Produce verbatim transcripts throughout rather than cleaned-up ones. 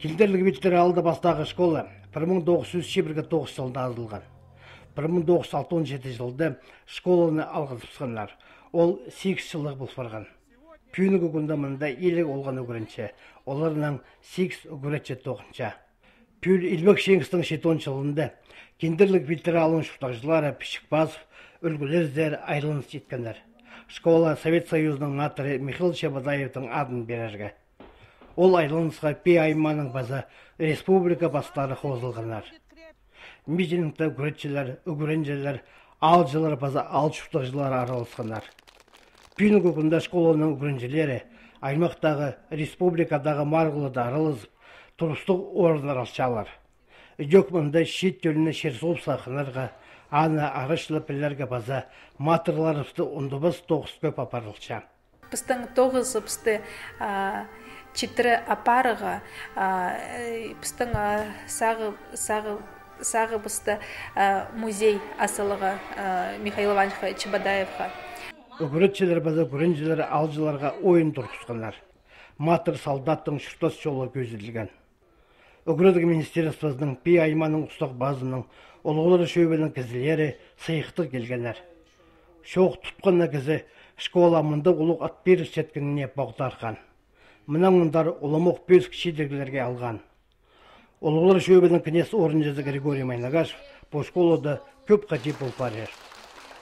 Килдерлік биттері алды бастағы школа бір мың тоғыз жүз жиырма тоғыз жылында азылған. бір мың тоғыз жүз алтын жеті жылда школаны алғызыпсынлар. Ол сегіз жылық бұл барған. Пүйінігі күнді мұнда елік олған өгірінше, оларынан сегіз өгіретші тоғынша. Пүйіл Илбек Шеңістің жетон жылында кендерлік биттері алын шұқтақшылары Пішікбазов, үлгілердер айрылыныс жеткендер. Школа Совет Союзының матыры Михаил Шабадаевтың адын берерге. Ол айрылынысқа Пей айманың база республика бастары қозылғанар. Митингті күретшілер, үгіренжелер, алжылар база ал шұқтақшылары аралысқанар. Пүйінігі күнді школаның үгіренжелері аймақтағы республикадағы марғылыда аралызып, тұрыстық орындар алшалар. Жөкмінді шет төліні шерсоп сақынарға, аны арышлы пілерге база матырларысты ұндыбыз тоғыз көп апарылша. Пістің тоғыз пісті читрі апарыға, пістің сағы пісті музей асылыға Михаил Ивановича Чабадаевға. Үгіретшілер база күренжілер алжыларға ойын тұрқысқанар. Матыр солдаттың шұртас жолы көзілген. Үгіредік министерствосының Пей айманың ұстық базының олғылары шөбенің кізілері сайықты келгенер. Шоқ тұтқанна кізі школа мұнда ұлық ат беріс жеткеніне бағдарған. Мұнан мұндар ұлымық бөз кішедергілерге алған. Олғылары шөбенің кінес орынжызы Григорий Майнагашев бұл школада көп қажет бұл барер.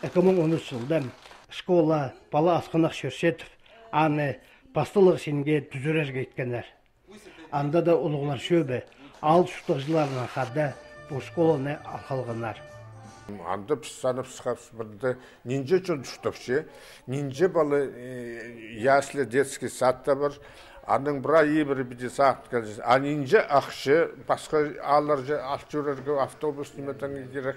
екі мың он үш жылда школа бала асқанақ Шөршетов аны бастылық сенге түзірерге еткенер. Анда да ұлғылар шөбі ал шұқтықшыларынан қада бұл школаны алқалғанар. Анда піссанып сықапсыбырды нинже чон түштіпше, нинже балы ясли детский садта бар, аның бұра ебірі біде сағыт кәлжесі. А нинже ақшы, басқа алар же алчурерге автобус неметен керек,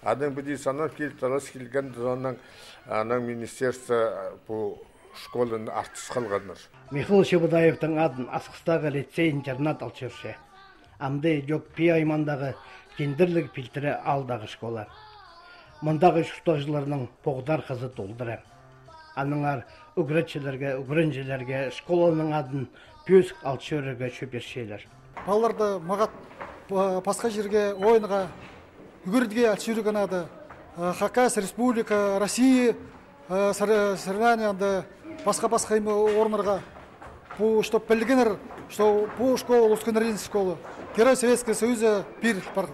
аның біде санап келталас келген дұзанның аның министерство бұл школаны артыс қалғаныр. Михаил Шабадаевтың адын асқыстағы лицей-интернат алчыршы. Амды жоқ Пей аймандағы кендірлік пилтірі алдағы школа. Мұндағы шұқтақшыларының поғдар қызы толдыры. Аныңар үгіретшілерге, үгіренжелерге школаның адын пөсік алчырыға шөпершейлер. Балаларды мағат басқа жерге ойынға үгірдіге алчырыған ады. Хакас, Республика, Россия, соревнованияда басқа-басқа орнарға. Бұл, что білгенер, что бұл школа, Лускенерин школа, Герой Советского Союза пир бар.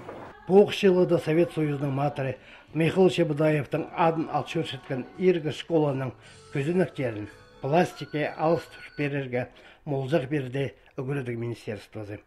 Бұл жылыда Совет Союзының матыры Михаил Шабадаевтың адын алчыр шеткен ергі школаның көзініктерін пластике алыс берерге молжақ берді үгіредік министерствосы.